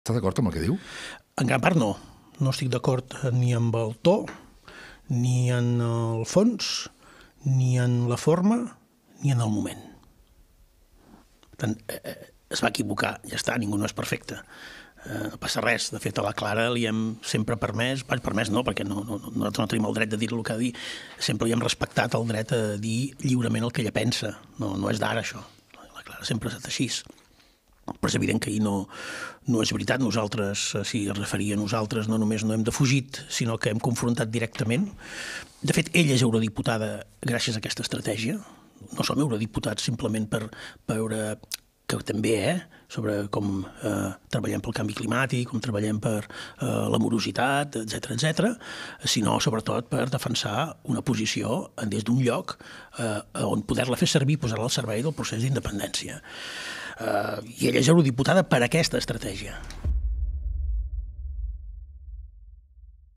Està d'acord amb el que diu? En gran part no. No estic d'acord ni amb el to, ni en el fons, ni en la forma, ni en el moment. Per tant, es va equivocar, ja està, ningú no és perfecte. No passa res. De fet, a la Clara li hem sempre permès no, perquè nosaltres no tenim el dret de dir el que ha de dir, sempre li hem respectat el dret a dir lliurement el que ella pensa. No és d'ara, això. La Clara sempre ha estat així. Però és evident que ahir no és veritat. Nosaltres, si es referia a nosaltres, no només no hem defugit, sinó que hem confrontat directament. De fet, ella és eurodiputada gràcies a aquesta estratègia. No som eurodiputats simplement per veure que també, sobre com treballem pel canvi climàtic, com treballem per la morositat, etc., sinó sobretot per defensar una posició des d'un lloc on poder-la fer servir, posar-la al servei del procés d'independència. I ella és eurodiputada per aquesta estratègia.